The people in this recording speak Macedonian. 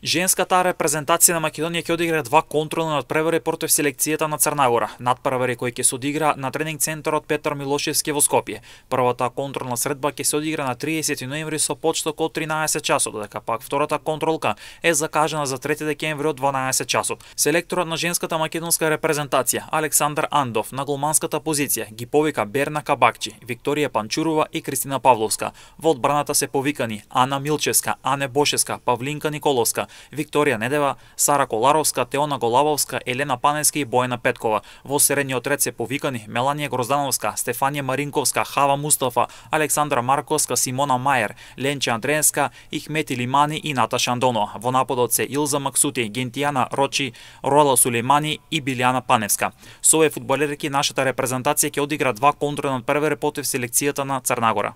Женската репрезентација на Македонија ќе одигра два контролни надпревари против селекцијата на Црнагора. Надпревари кои ќе се одигра на тренинг центарот Петар Милошевски во Скопје. Првата контролна средба ќе се одигра на 30 ноември со почеток од 13 часот, додека пак втората контролка е закажана за 3 декември од 12 часот. Селекторот на женската македонска репрезентација Александар Андов на голманската позиција ги повика Берна Кабакчи, Викторија Панчурова и Кристина Павловска. Во одбраната се повикани Ана Милчевска, Ане Бошевска, Павлинка Николовска, Викторија Недева, Сара Коларовска, Теона Голабовска, Елена Паневска и Бојана Петкова. Во средниот ред се повикани Меланија Гроздановска, Стефанија Маринковска, Хава Мустафа, Александра Марковска, Симона Мајер, Ленче Андреевска, Ихмети Лимани и Наташа Андонова. Во нападот се Илза Максути, Гентијана Рочи, Рола Сулеймани и Билјана Паневска. Со овие фудбалерки нашата репрезентација ќе одигра два контролни надпревари против селекцијата на Црнагора.